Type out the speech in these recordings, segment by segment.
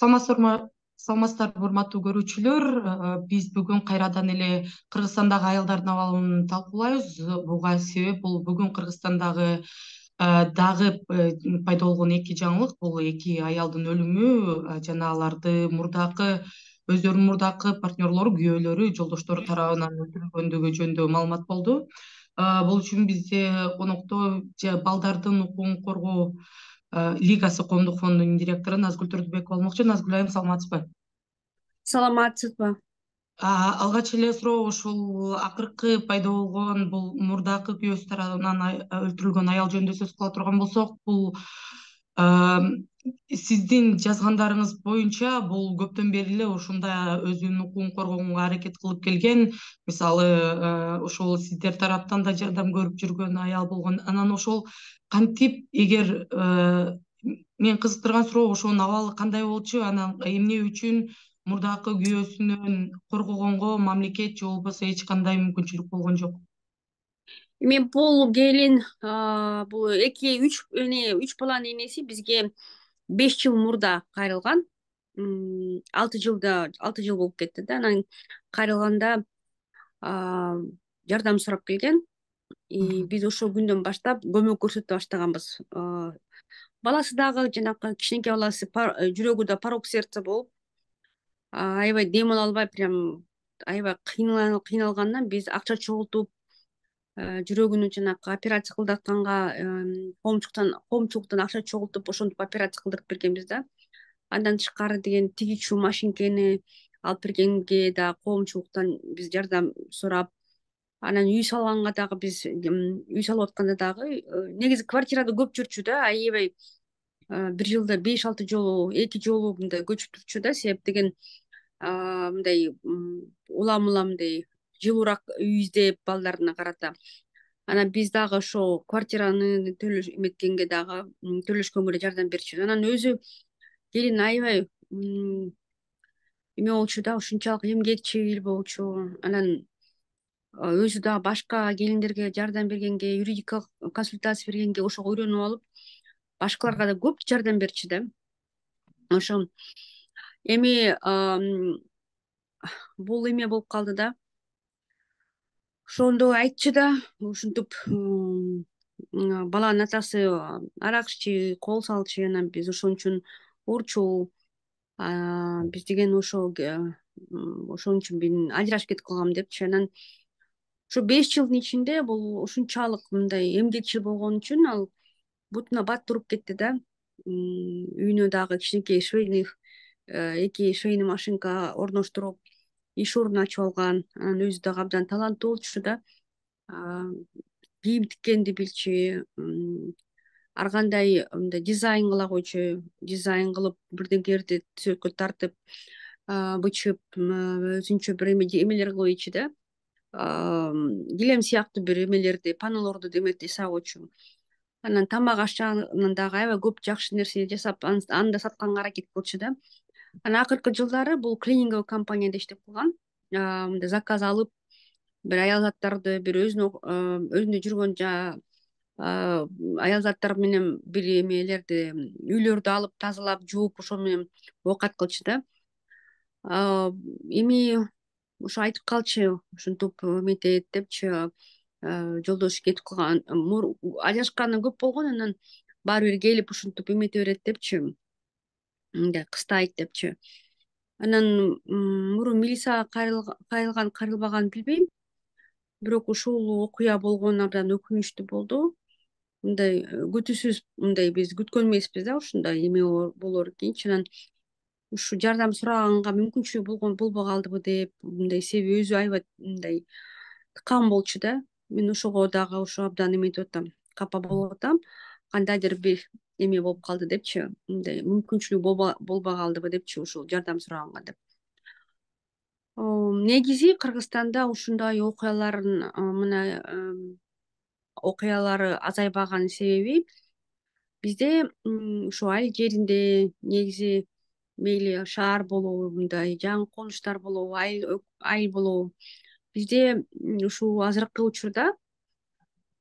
Саламатсыздарбы урматтуу көрүүчүлөр. Биз бүгүн кайрадан эле Кыргызстандагы аялдардын абалын талкуулайбыз. Буга себеп бул бүгүн Кыргызстандагы дагы пайда болгон эки жаңылык. Бул эки аялдын өлүмү жана өздөрүнүн мурдакы партнерлору, күйөөлөрү, жолдоштору тарабынан өлтүрүлгөндүгү жөнүндө маалымат болду. Бул үчүн бизде конокто балдардын укугун коргоо Лигасы коомдук фондунун директору Назгүл Турдубекова болмокчу. Назгүл айым, саламатсызбы? Саламатсызбы? Алгач эле суроо ушул акыркы пайда болгон бул мурдакы күйөөсү тарабынан өлтүрүлгөн аял жөнүндө сөз кыла турган болсок, бул сиздин жазгандарыңыз боюнча бул көптөн бери эле ушундай өзүнүн укугун коргоого аракет кылып келген. Мисалы, ошол сиздер тараптан да жардам көрүп жүргөн аял болгон. Анан ошол кантип, эгер мени кызыктырган суроо ошонун абалы кандай болчу, анан эмне үчүн мурдакы күйөөсүнөн коргогонго мамлекет же болбосо эч кандай мүмкүнчүлүк болгон жок? Эми бул келин бул үч баланын энеси бизге 5 жыл мурда кайрылган. 6 жыл болуп кетти да. Анан кайрылганда жардам сурап келген. Биз ошол күндөн баштап көмөк көрсөтө баштаганбыз. Баласы дагы жанакы кичинекей баласы жүрөгү да порок сердца болуп, аябай дем ала албай, прям аябай кыйналгандан биз акча чогултуп, жүрөгүнү жанакы операция кылдатканга коомчулуктан акча чогултуп, ошентип операция кылдырып бергенбиз да. Андан тышкары деген тигичүү машинкени алып бергенге да коомчулуктан биз жардам сурап, анан үй салганга дагы биз үй салып атканда дагы негизи квартирада көп жүрчү да, аябай бир жылда 5-6 жолу, 2 жолу мындай көчүп турчу да, себеп деген мындай улам мындай жылуураак үй издеп балдарына карата. Анан биз дагы ошо квартираны эметкенге дагы төлөшкөнгө да жардам берчүбүз. Анан өзү келин аябай эме болчу да, ушунчалык эмгекчил болчу. Анан өзү дагы башка келиндерге жардам бергенге, юридикалык консультация бергенге ошого үйрөнүп алып, башкаларга да көп жардам берчү да. Ошо эми бул эме болуп калды да. Ошондо айтчу да, ушинтип баланын атасы арак иччи, кол салчу, анан биз ошон үчүн урчу. Биз деген ошон үчүн мен ажырашып кетип калгам депчи. Анан ошо 5 жылдын ичинде бул ушунчалык мындай эмгекчил болгон үчүн ал бутуна бат туруп кетти да. Үйүнө дагы кичинекей эки швейный машинка орноштуруп, иш ордун ачып алган. Анан өзү дагы абдан таланттуу болчу да. Кийим тиккенди билчү, ар кандай мындай дизайн кыла койчу. Дизайн кылып, бирдеңелерди түзөткө тартып, бычып, өзүнчө бир эмелер кылып ийчү да. Килем сыяктуу бир эмелерди, панелорду жасап койчу. Анан тамак ашчанын дагы аябай көп жакшы нерсе жасап, аны да сатканга аракет кылчу да. Анан акыркы жылдары бул клининговый компанияда иштеп калган. Мындай заказ алып, бир аялзаттарды, бир өзүндө жүргөн аялзаттар менен бир эмелерди, үйлөрдү алып тазалап, жууп, ошо менен оокат кылчу да. Эми ошо айтып калчу, ушинтип эметет депчи, жолдошу кетип калган, ажырашканы көп болгон, анан баары бир келип ушинтип эмете берет депчи, мындай кыстайт депчи. Анан мурун милицияга кайрылбаганын билбейм, бирок ушул окуя болгон абдан өкүнүчтүү болду. Мындай күтүүсүз, мындай биз күткөн эмеспиз да, ушундай эме болор экенчи. Анан ушу жардам сураганга мүмкүнчүлүгү болбой калдыбы деп, мындай себеби өзү аябай мындай тыкан болчу да. Мен ошого дагы абдан эметип атам, капа болуп атам. Кандайдыр бир эме болуп калды депчи, мындай мүмкүнчүлүгү болбой калдыбы депчи, ушул жардам сураганга деп. Негизи Кыргызстанда ушундай окуялары азайбаган себеби бизде ушу айыл жеринде негизи мейли шаар болобу, мындай жаңы конуштар болобу, айыл болобу, бизде ушул азыркы учурда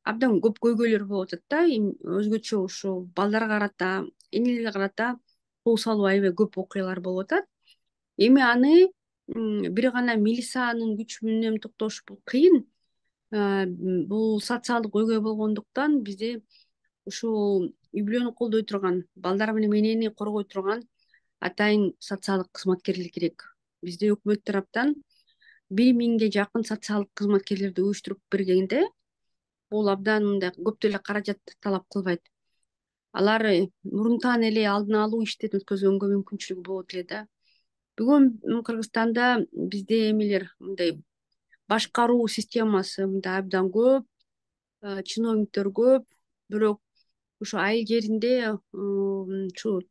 абдан көп көйгөйлөр болуп атат да. Өзгөчө ушу балдарга карата, энелерге карата кол салуу аябай көп окуялар болуп атат. Эми аны бир гана милициянын күчү менен токтош бул кыйын. Бул социалдык өйгөй болгондуктан бизде ушул үй бүлөнү колдой турган, балдар менен энени коргой турган атайын социалдык кызматкерлер керек. Бизде өкмөт тараптан 1000 жакын социалдык кызматкерлерди уюштуруп бергенде бул абдан мындай көп деле каражат талап кылбайт. Алар мурунтан эле алдын алуу иштерин өткөзгөнгө мүмкүнчүлүгү болот эле да. Бүгүн Кыргызстанда бизде эмелер мындай башкаруу системасы мындай абдан көп, чиновниктер көп, бирок ушу айыл жеринде ушу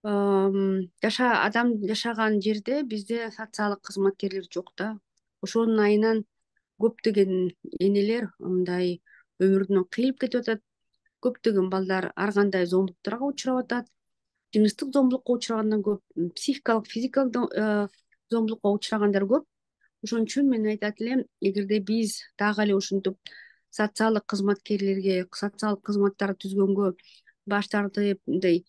адам жашаган жерде бизде социалдык кызматкерлер жок да. Ошонун айынан көптөгөн энелер мындай өмүрүнөн кыйылып кетип атат. Көптөгөн балдар ар кандай зомбулуктарга учурап атат. Жыныстык зомбулукка учурагандан көп, психикалык, физикалык зомбулукка учурагандар көп. Ошон үчүн мен айтат элем, эгерде биз дагы эле ушинтип социалдык кызматкерлерге социалдык кызматтарды түзгөнгө баш тартып, мындай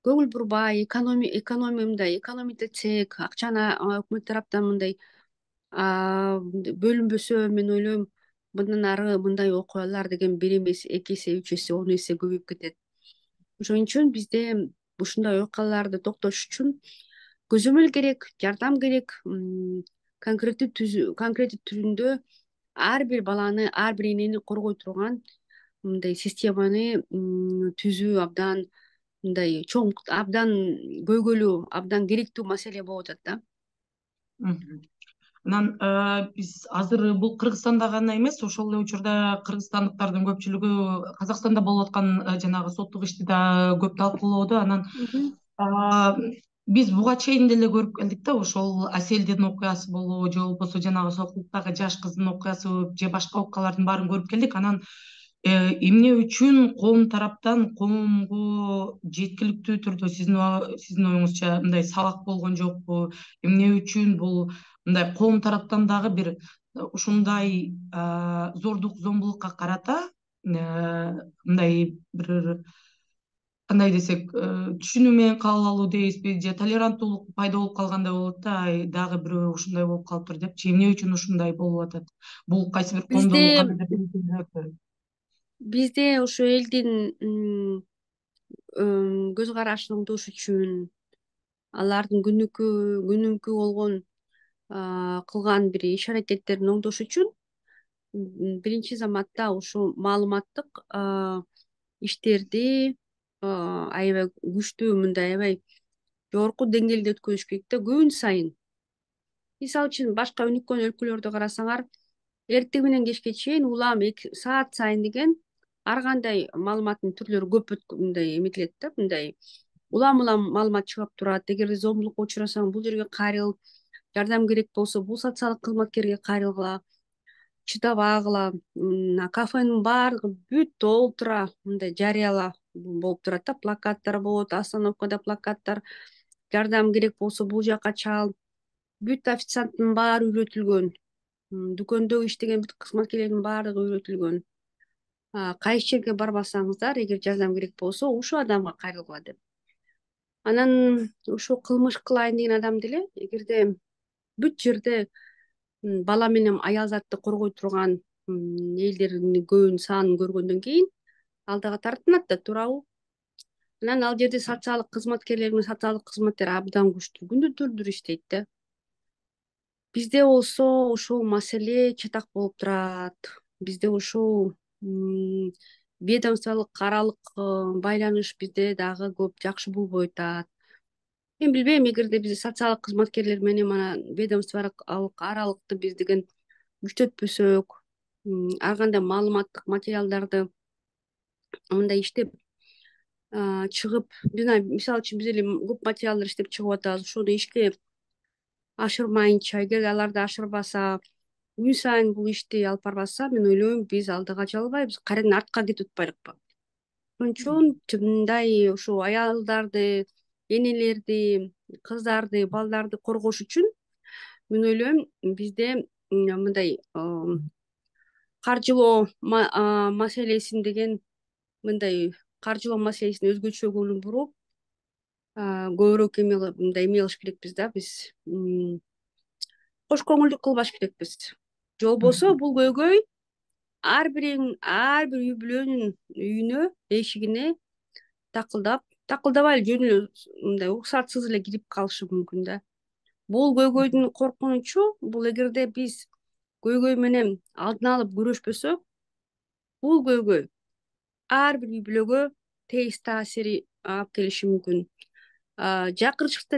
көңүл бурбай, экономия мындай экономить акчаны өкмөт тараптан мындай бөлүнбөсө, мен ойлойм мындан ары мындай окуялар деген 1 эмес 2 эсе 3 эсе 10 эсе көбөйүп кетет. Ошон үчүн бизде ушундай окуяларды токтош үчүн көзөмөл керек, жардам керек. Конкреттүү түрүндө ар бир баланы, ар бир энени коргой турган мындай системаны түзүү абдан мындай чоң, абдан көйгөйлүү, абдан керектүү маселе болуп атат да. Анан биз азыр бул Кыргызстанда гана эмес, ошол эле учурда кыргызстандыктардын көпчүлүгү Казакстанда болуп аткан жанагы соттук ишти да көп талкуулоодо. Анан биз буга чейин деле көрүп келдик да, ошол Аселдин окуясы болобу же болбосо жанагы Сокулуктагы жаш кыздын окуясы же башка окуялардын баарын көрүп келдик. Анан эмне үчүн коом тараптан коомго жеткиликтүү түрдө сиздин оюңузча мындай сабак болгон жокпу? Эмне үчүн бул мындай коом тараптан дагы бир ушундай зордук зомбулукка карата мындай бир кандай десек, түшүнүү менен кабыл алуу дейбизби же толеранттуулук пайда болуп калгандай болот да, дагы бирөө ушундай болуп калыптыр депчи. Эмне үчүн ушундай болуп атат? Бул кайсы бир коомдо кандайдыр бизде ушу элдин көз карашын оңдош үчүн, алардын күнүмкү болгон кылган бир иш аракеттерин оңдош үчүн биринчи заматта ушу маалыматтык иштерди аябай күчтүү, мындай аябай жогорку деңгээлде өткөзүш керек да күн сайын. Мисалы үчүн башка өнүккөн өлкөлөрдү карасаңар, эртең менен кечке чейин улам саат сайын деген ар кандай маалыматтын түрлөрү көп мындай эметилет да, мындай улам маалымат чыгып турат. Эгерде зомбулукка учурасаң, бул жерге кайрыл, жардам керек болсо бул социалдык кызматкерге кайрылгыла, чыдабагыла. Кафенин баардыгы бүт толтура мындай жарыяла болуп турат да, плакаттар болот, остановкада плакаттар, жардам керек болсо бул жака чал. Бүт официанттын баары үйрөтүлгөн, дүкөндө иштеген бүт кызматкерлердин баардыгы үйрөтүлгөн. Кайсы жерге барбасаңыздар, эгер жардам керек болсо ушул адамга кайрылгыла деп. Анан ушу кылмыш кылайын деген адам деле эгерде бүт жерде бала менен аял затты коргой турган элдердин көбүнүн санын көргөндөн кийин ал дагы тартынат да, туурабы? Анан ал жерде социалдык кызматкерлер менен социалдык кызматтар абдан күчтүү, күндү-түндүр иштейт да. Бизде болсо ушул маселе чатак болуп турат. Бизде ушул ведомстволук аралык байланыш бизде дагы көп жакшы болбой атат. Мен билбейм, эгерде биз социалдык кызматкерлер менен мана ведомстволук аралыкты биз деген күчөтпөсөк, ар кандай маалыматтык материалдарды мындай иштеп чыгып, мисалы үчүн биз эле көп материалдар иштеп чыгып атабыз. Ошону ишке ашырмайынча, эгерде аларды ашырбаса, күн сайын бул ишти алып барбаса, мен ойлойм биз алдыга жыла албайбыз, кайрадан артка кетип атпайлыкпы? Ошон үчүн мындай ушу аялдарды, энелерди, кыздарды, балдарды коргош үчүн мен ойлойм бизде мындай каржылоо маселесин деген мындай каржылоо маселесине өзгөчө көңүл буруп, көбүрөөк мындай эме кылыш керекпиз да, биз кош көңүлдүк кылбаш керекпиз. Же болбосо бул көйгөй ар бир үй бүлөнүн үйүнө, эшигине такылдабай эле жөн эле мындай уруксатсыз эле кирип калышы мүмкүн да. Бул көйгөйдүн коркунучу бул эгерде биз көйгөй менен алдын алып күрөшпөсөк, бул көйгөй ар бир үй бүлөгө терс таасири алып келиши мүмкүн. Жакынчыкта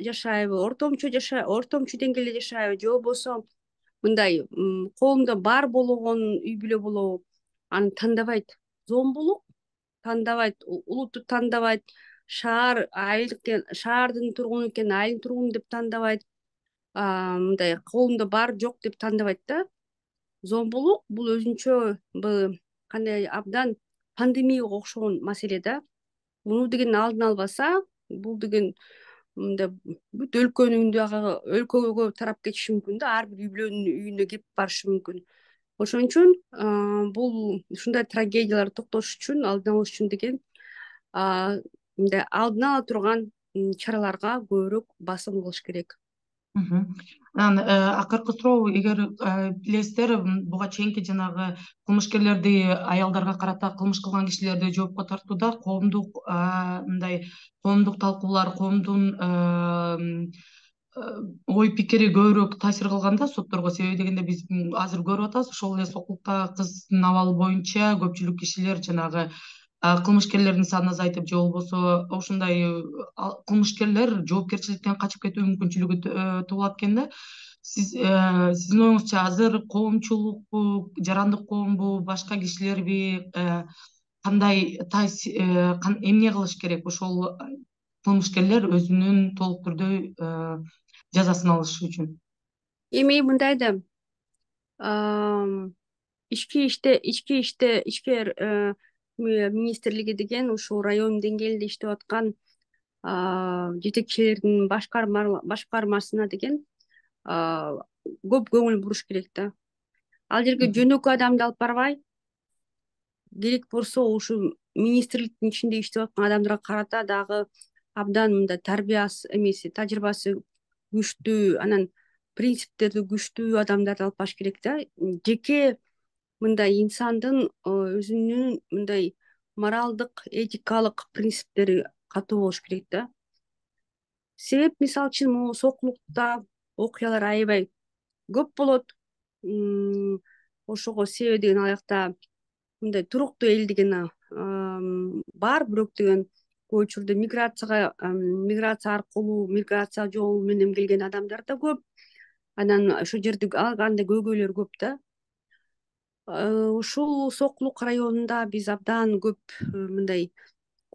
жашайбы, ортомчу деңгээлде жашайбы, же болбосо мындай коомдо бар болгон үй бүлө болобу, аны тандабайт. Зомбулук тандабайт, улутту тандабайт, шаардын тургуну экен, айылдын тургуну деп тандабайт, мындай коомдо бар жок деп тандабайт да. Зомбулук бул өзүнчө кандай абдан пандемияга окшогон маселе да. Муну деген алдын албаса, бул деген мындай бүт өлкөгө тарап кетиши мүмкүн да, ар бир үй бүлөнүн үйүнө кирип барышы мүмкүн. Ошон үчүн бул ушундай трагедияларды токтотуш үчүн, алдын алыш үчүн деген мындай алдын ала турган чараларга көбүрөөк басым кылыш керек. Анан акыркы суроо, эгер билесиздер, буга чейинки жанагы кылмышкерлерди, аялдарга карата кылмыш кылган кишилерди жоопко тартууда коомдук талкуулар, коомдун ой пикири көбүрөөк таасир кылган да сотторго. Себеби дегенде биз азыр көрүп атабыз, ошол эле Сокулуктагы кыздын абалы боюнча көпчүлүк кишилер жанагы кылмышкерлердин санын азайтып, же болбосо ушундай кылмышкерлер жоопкерчиликтен качып кетүү мүмкүнчүлүгү туулат экен да. Сиздин оюңузча азыр коомчулукпу, жарандык коомбу, башка кишилерби кандай эмне кылыш керек ошол кылмышкерлер өзүнүн толук түрдө жазасын алыш үчүн? Эми мындай да, ички иштер министрлиги деген ушул район деңгээлинде иштеп аткан жетекчилердин башкармасына деген көп көңүл буруш керек да. Ал жерге жөнөкөй адамды алып барбай, керек болсо ушу министрликтин ичинде иштеп аткан адамдарга карата дагы абдан мындай тажрыйбасы күчтүү, анан принциптерди күчтүү адамдарды алып барыш керек да. Жеке мындай инсандын өзүнүн мындай моралдык, этикалык принциптери катуу болуш керек да. Себеп, мисалы үчүн, могу Сокулукта окуялар аябай көп болот. Ошого себеп деген алакта мындай туруктуу эл деген бар, бирок деген көп учурда миграция аркылуу, миграция жолу менен келген адамдар да көп. Анан ошол жерде андай көйгөйлөр көп да. Ушул Сокулук районунда биз абдан көп мындай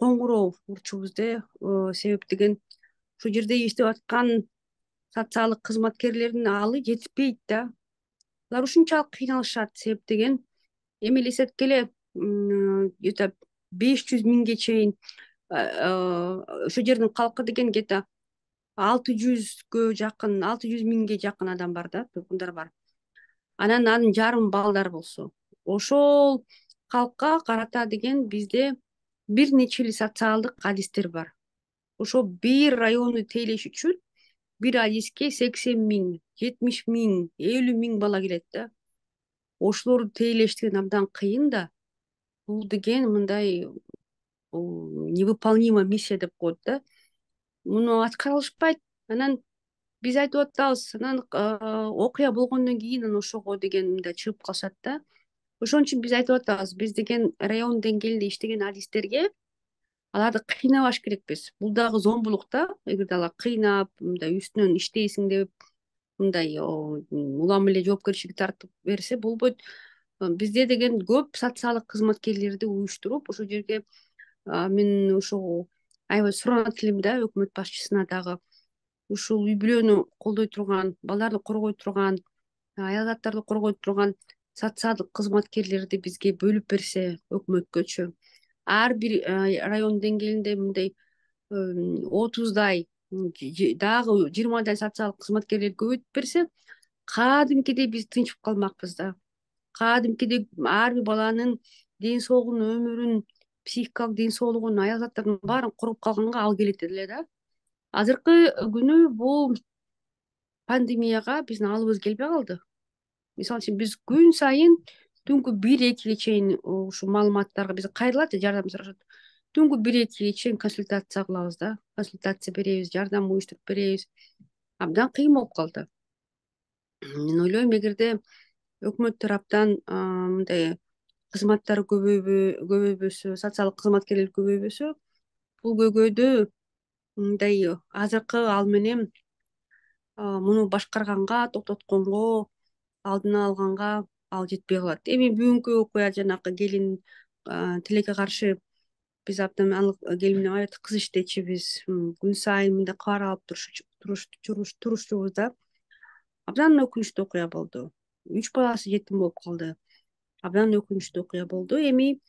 коңгуроо урчубуз да. Себеп деген ушул жерде иштеп аткан социалдык кызматкерлердин аалы жетпейт да. Алар ушунчалык кыйналышат. Себеп деген эми элестеткиле, где-то 500 миңге чейин ошол жердин калкы деген где-то 600 миңге жакын адам бар да, тургундар бар. Анан анын жарым балдар болсо, ошол калкка карата деген бизде бир нече эле социалдык адистер бар. Ошол бир районду тейлеш үчүн бир адиске 80 миң, 70 миң, 50 миң бала келет да. Ошолорду тейлеш деген абдан кыйын да. Бул деген мындай невыполнимая миссия деп коет да. Муну аткара алышпайт. Анан биз айтып атабыз, анан окуя болгондон кийин анан ошого деген мындай чыгып калышат да. Ошон үчүн биз айтып атабыз, биз деген район деңгээлинде иштеген адистерге аларды кыйнабаш керекпиз. Бул дагы зомбулук да. Эгерде алар кыйнап, мындай үстүнөн иштейсиң деп, мындай улам эле жоопкерчиликке тартып берсе болбойт. Бизде деген көп социалдык кызматкерлерди уюштуруп, ошол жерге мен ошого аябай суранат элем да, өкмөт башчысына дагы ушул үй бүлөнү колдой турган, балдарды коргой турган, аял заттарды коргой турган социалдык кызматкерлерди бизге бөлүп берсе өкмөткөчү. Ар бир район деңгээлинде мындай 30дай, дагы 20дай социалдык кызматкерлерди көбөйтүп берсе, кадимкидей биз тынчып калмакпыз да. Кадимкидей ар бир баланын ден соолугун, өмүрүн психикалык ден соолугун, аял заттардын баарын коруп калганга ал келет эле да. Азыркы күнү бул пандемияга биздин алыбыз келбей калды. Мисалы үчүн биз күн сайын түнкү 1-2 чейин ушул маалыматтарга биз кайрылат, жардам сурашат. Түнкү 1-2 чейин консультация кылабыз да, консультация беребиз, жардам уюштуруп беребиз. Абдан кыйын болуп калды. Мен ойлойм, эгерде өкмөт тараптан мындай кызматтар көбөйбөсө, социалдык кызматкерлер көбөйбөсө, бул көйгөйдү мындай азыркы ал менен муну башкарганга, токтотконго, алдын алганга ал жетпей калат. Эми бүгүнкү окуя, жанагы келин тилекке каршы биз абдан анын келин менен аябай кыз иштечүбүз. Күн сайын мындай кабар алып турушчубуз да. Абдан өкүнүчтүү окуя болду. 3 баласы жетим болуп калды. Абдан өкүнүчтүү окуя болду. Эми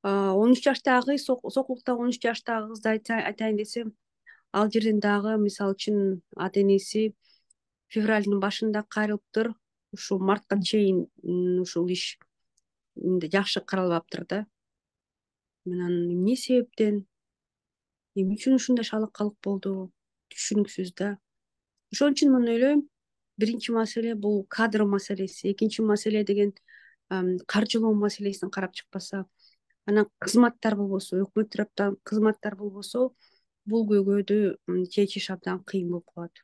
13 жаштагы, Сокулукта 13 жаштагы кызды айтайын десем, ал жерден дагы мисалы үчүн ата энеси февралдын башында кайрылыптыр. Ушул мартка чейин ушул иш жакшы каралбаптыр да. Анан эмне себептен, эмне үчүн ушундай шалакалык болду, түшүнүксүз да. Ошон үчүн мен ойлойм, биринчи маселе бул кадр маселеси, экинчи маселе деген каржылоо маселесин карап чыкпаса, анан кызматтар болбосо, өкмөт тараптан кызматтар болбосо, бул көйгөйдү чечиш абдан кыйын болуп калат.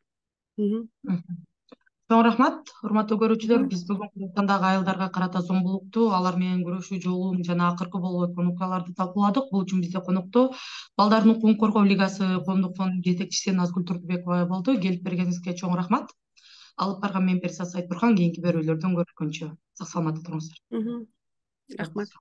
Чоң рахмат, урматтуу көрүүчүлөр. Биз бүгүнкү тандагы аялдарга карата зомбулукту, алар менен күрөшүү жолун жана акыркы болуп өткөн окуяларды талкууладык. Бул үчүн бизде конокто Балдардын укугун коргоо лигасы коомдук фондунун жетекчиси Назгүл Турдубекова болду. Келип бергениңизге чоң рахмат. Алып барган мен Перизат Сайтбурхан. Кийинки берүүлөрдөн көрүшкөнчө сак саламатта туруңуздар. Рахмат.